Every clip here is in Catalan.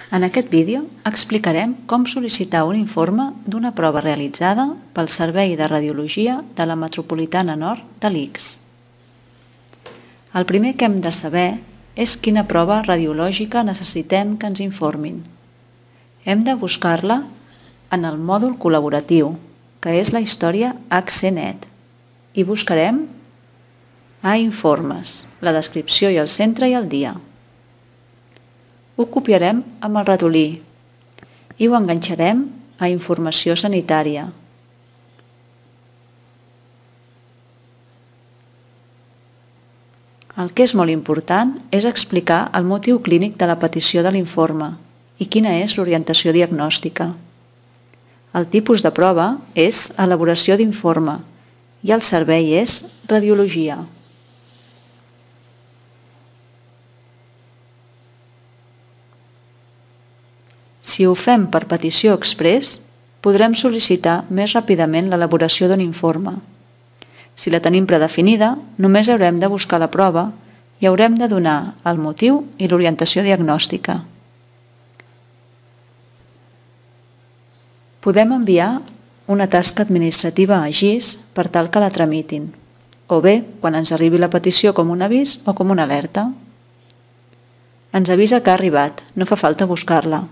En aquest vídeo explicarem com sol·licitar un informe d'una prova realitzada pel Servei de Radiologia de la Metropolitana Nord de l'ICS. El primer que hem de saber és quina prova radiològica necessitem que ens informin. Hem de buscar-la en el mòdul col·laboratiu, que és la història HCNet, i buscarem a informes, la descripció i el centre i el dia. Ho copiarem amb el ratolí i ho enganxarem a informació sanitària. El que és molt important és explicar el motiu clínic de la petició de l'informe i quina és l'orientació diagnòstica. El tipus de prova és elaboració d'informe i el servei és radiologia. Si ho fem per petició exprés, podrem sol·licitar més ràpidament l'elaboració d'un informe. Si la tenim predefinida, només haurem de buscar la prova i haurem de donar el motiu i l'orientació diagnòstica. Podem enviar una tasca administrativa a GIS per tal que la tramitin, o bé quan ens arribi la petició com un avís o com una alerta. Ens avisa que ha arribat, no fa falta buscar-la.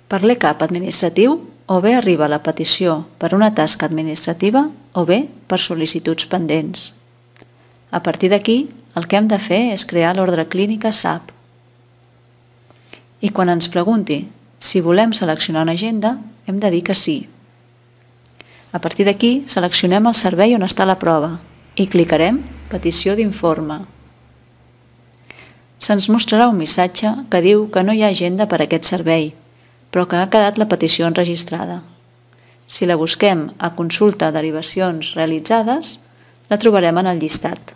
Per l'ECAP administratiu, o bé arriba la petició per una tasca administrativa o bé per sol·licituds pendents. A partir d'aquí, el que hem de fer és crear l'ordre clínica SAP. I quan ens pregunti si volem seleccionar una agenda, hem de dir que sí. A partir d'aquí, seleccionem el servei on està la prova i clicarem Petició d'informe. Se'ns mostrarà un missatge que diu que no hi ha agenda per a aquest servei, però que ha quedat la petició enregistrada. Si la busquem a Consulta derivacions realitzades, la trobarem en el llistat.